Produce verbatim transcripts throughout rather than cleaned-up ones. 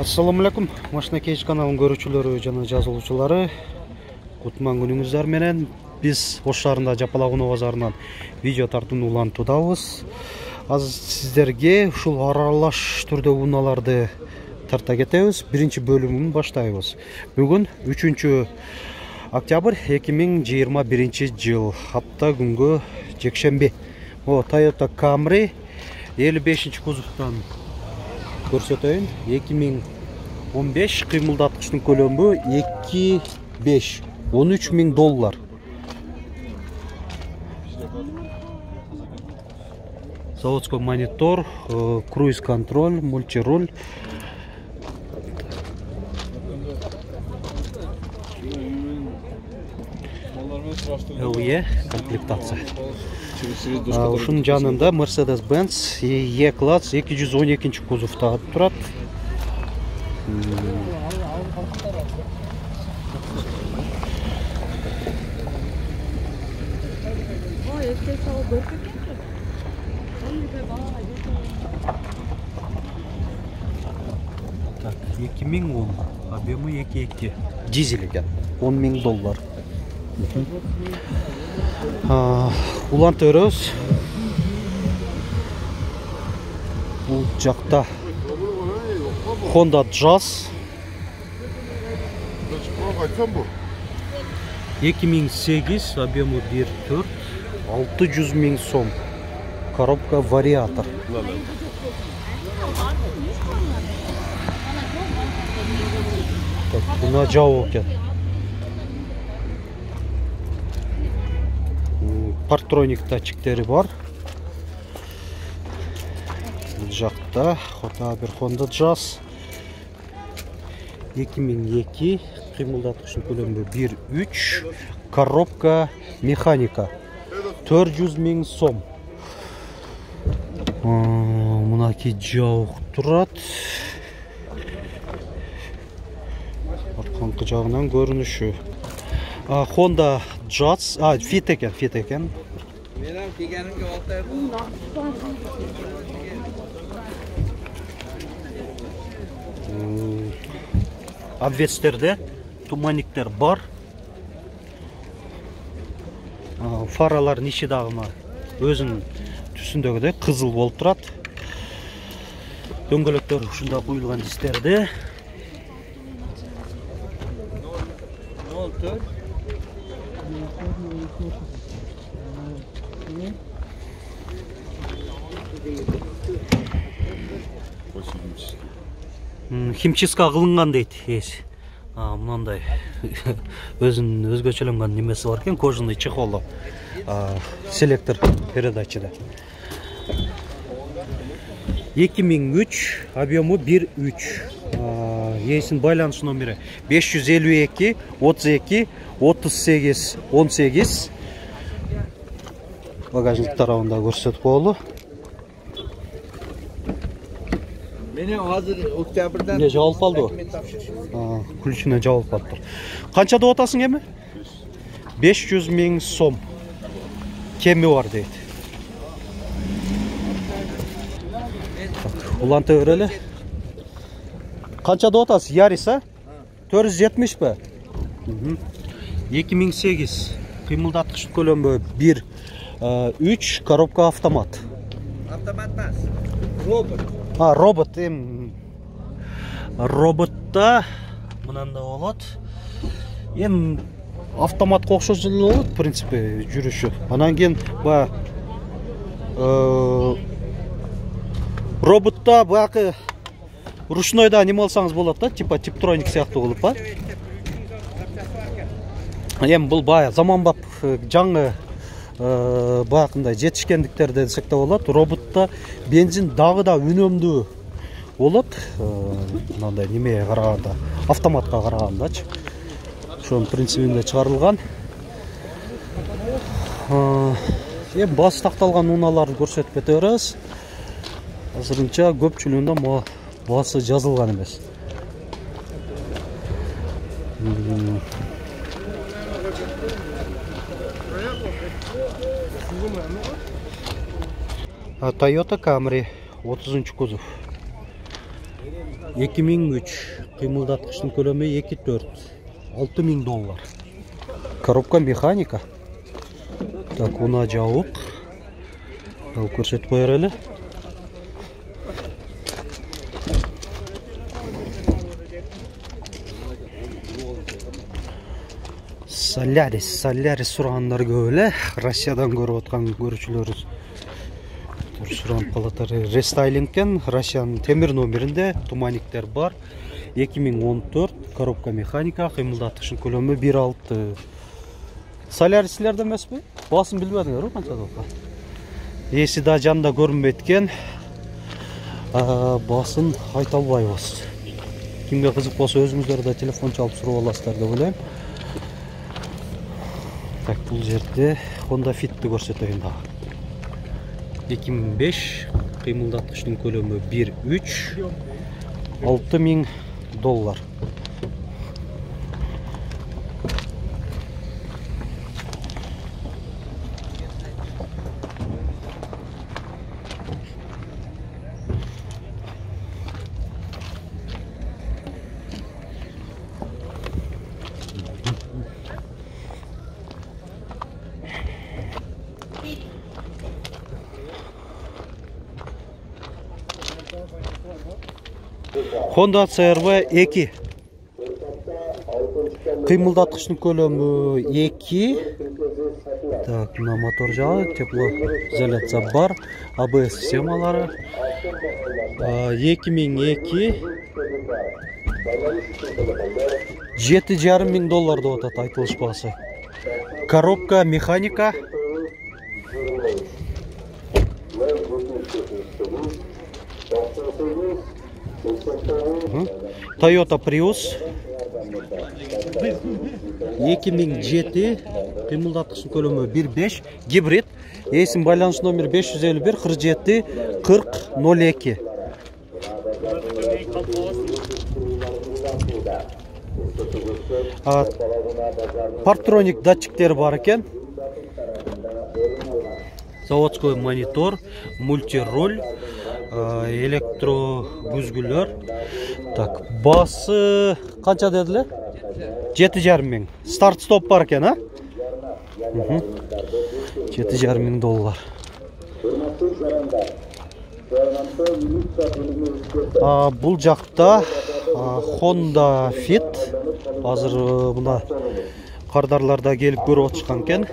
Assalamu alaikum. Машина Кейж каналынын көрүүчүлөрү жана жазылуучулары. Кутман күнүңүздөр менен. Биз Ош шаарында Жапалакуноо базарынан видео тартууну улантуудабыз. Азыр сиздерге ушул аралаш түрдө унааларды тарта кетебиз. Биринчи бөлүмүн баштайбыз. Бүгүн үчүнчү октябрь эки миң жыйырма биринчи жыл. Апта күнгө жекшемби. О, Toyota Camry элүү бешинчи кузовтан көрсөтөйүн. эки миң он беш кыймылдаткычтын көлөмү эки беш он үч миң доллар. Заводской монитор, круиз контроль, мультируль. эл и комплектация. Ушунун жанында Mercedes-Benz E-класс эки жүз он экинчи кузовта турат. Так, эки миң он, объемы эки эки. Дизель экен, он миң доллар. Уланты өрөбүз. Бул жакта Honda Jazz эки миң сегиз, объемы бир төрт, алты жүз миң сом. Коробка вариатор. Так, буна жабык экен. Партроник датчиктери бар. Бул жакта бир Honda Jazz эки миң эки, кыймылдаткычтын көлөмү бир үч, коробка механика төрт жүз миң сом. Мынакей жабык турат. Арканкы жагынан көрүнүшү. Honda Jazz, а, Fit экен, Fit экен. Менен дегенимге алтай бул. Обвестерде туманниктер бар. Фаралар ичи дагы өзүнүн түсүндөгүдөй кызыл болуп турат. Дөңгөлөктөр ушунда куюлган дистерде. Химчистка кылынган дейт эси. Мынандай өзүнүн өзгөчөлөнгөн немеси бар экен, кожаный чехолу. Селектор передачада. эки миң үч, объемы бир үч. Эсин байланыш номери беш жүз элүү эки, отуз эки, отуз сегиз, он сегиз. Багажник тарабында көрсөтүп коелу. Менин азыр октябрдан не жабылып калды? А, ключуна жабылып калыптыр. Канча деп атасың эми? беш жүз миң сом. Кеми бар дейт. Уланта өрөлө. Канча деп атасыз? Ярис, а? төрт жүз жетимиш бе? эки миң сегиз. Кыймылдаткыч көлөмү бир үч, коробка автомат. Автомат эмес. Робот. А, робот эм роботта мынандай болот. Эм автоматка окшош эле болот, в принципе, жүрүшү. Анан кийин ба роботта баягы ручнойда неме алсаңыз болот да, типа типтроник сыяктуу кылып, ба? Эми бул бая заманбап жаңы баягындай жетишкендиктерди десек да болот. Роботта бензин дагы да үнөмдүү болот. Мындай немеге караганда, автоматка карагандачы. Ошонун принцибинде чыгарылган. Эми басы такталган унааларды көрсөтүп кете беребиз. Азырынча көпчүлүгүндө басы жазылган эмес. Toyota Camry otuzuncu kuzov. эки миң үч, кыймылдаткычтын көлөмү эки төрт, алты миң доллар. Коробка механика. Так, уна жабык. Ал көрсөтүп коер эле. Солярис, Солярис сурагандар көп эле. Россиядан көрүп аткан көрүүчүлөрүбүз суранып калатар. Рестайлингден Россиянын темир номеринде туманиктер бар. эки миң он төрт, коробка механика, кыймылдаткычтын көлөмү бир алты. Солярис силерде эмеспи? Басын билбедиңерби канча деп? Эси да жанында көрүнбөйт экен. Басын айта албайбыз. Кимге кызык болсо өзүңүздөр да телефон чалып сурап аласыздар деп ойлойм. Так, бул жерде Honda Fit'ти көрсөтөйүн дагы. эки миң беш, кыймылдаткычтын көлөмү бир үч, алты миң доллар. Honda C R V эки. Кыймылдаткычтын көлөмү эки. Так, мына мотор жагы, теплоизоляция бар, А Б С системалары. эки миң эки. жети жарым миң доллар деп атат айтылыш баасы. Коробка механика. Toyota Prius эки миң жети, кыймылдаткычтын көлөмү бир беш, гибрид. Эсин байланыш номер беш жүз элүү бир, кырк жети, кырк, ноль эки. Парктроник датчиктери бар экен. Заводской монитор, мультируль, электро күзгүлөр. Так, басы канча дедиле? жети жарым миң. Старт стоп бар экен, а? жети жарым миң доллар. Бул жакта Honda Fit. Азыр мына кардарларда келип көрүп атышкан экен.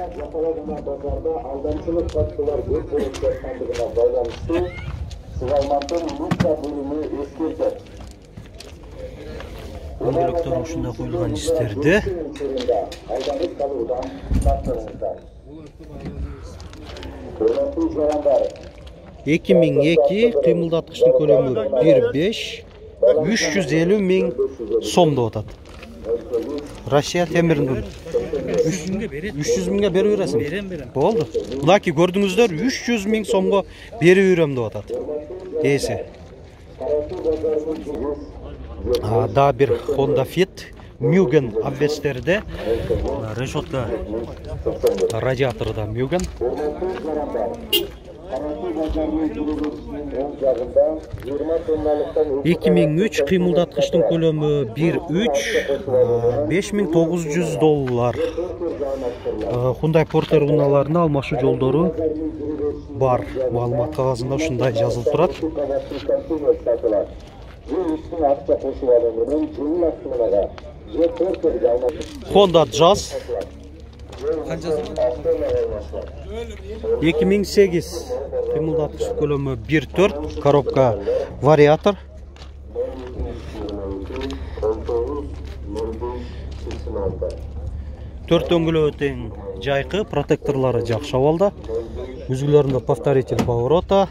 Дөңгөлөктөр ушундай коюлган жистерде. эки миң эки, кыймылдаткычтын көлөмү бир беш, үч жүз элүү миң сом деп атат. Россия темиринин үч жүз миңге берип бересиң? Берем, берем. Болду. Мынакей көрдүңүздөр, үч жүз миң сомго берип берем деп атат. Эси. Да бир Honda Fit Mugen обвестерде. Решетка радиаторда Mugen. эки миң үч, кыймылдаткычтын көлөмү бир үч, беш миң тогуз жүз доллар. Hyundai Porter унааларына алмашуу жолдору бар. Маалымат кагазында ушундай жазылып турат. Honda Jazz эки миң сегиз, кыймылдаткыч көлөмү бир төрт, коробка вариатор. төрт дөңгөлөгү тең жайкы, протекторлору жакшы абалда. Үзгүлөрүндө повторитель поворота.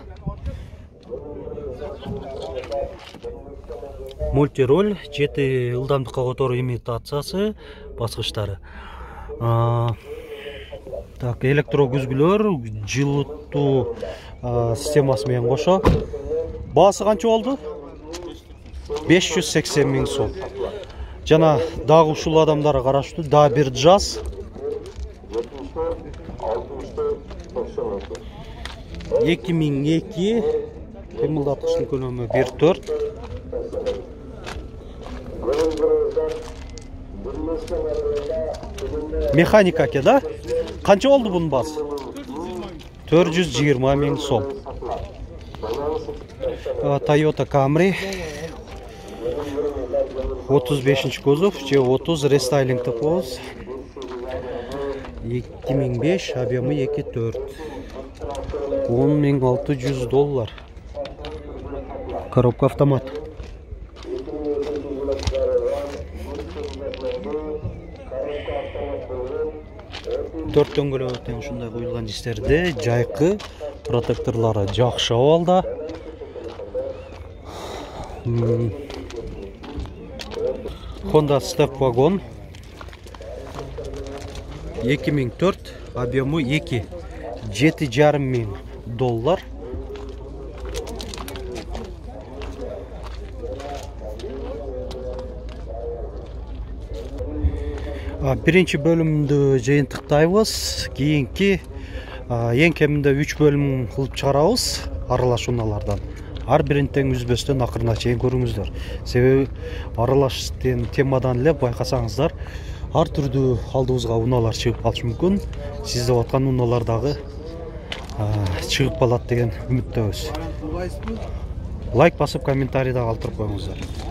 Мультироль, жети ылдамдыкка которуу имитациясы, баскычтары. Так, электро күзгүлөр, жылытуу системасы менен кошо. Баасы канча болду? беш жүз сексен миң сом. Жана дагы ушул адамдар караштуу, да бир Jazz. эки миң эки, кыймылдаткычтын көлөмү бир төрт. Механика экен да? Канча болду бунун баасы? төрт жүз жыйырма миң сом. Toyota Camry отуз бешинчи кузов же отуз рестайлинг деп коебуз. эки миң беш, объемы эки төрт. он миң алты жүз доллар. Коробка автомат. төрт дөңгөлөктөн ушундай куюлган дистерде жайкы, протекторлору жакшы абалда. Honda Step Wagon эки миң төрт, объемы эки, жети жарым миң доллар. Биринчи бөлүмдү жыйынтыктайбыз. Кийинки эң кеминде үч бөлүм кылып чыгарабыз аралаш унаалардан. Ар бирин тең үзбөстөн акырына чейин көрүңүздөр. Себеби аралаш темадан эле байкасаңыздар, ар түрдүү алдыбызга унаалар чыгып калышы мүмкүн. Сиз деп аткан унаалар дагы чыгып калат деген үмүттөбүз. Лайк басып, комментарий да калтырып коюңуздар.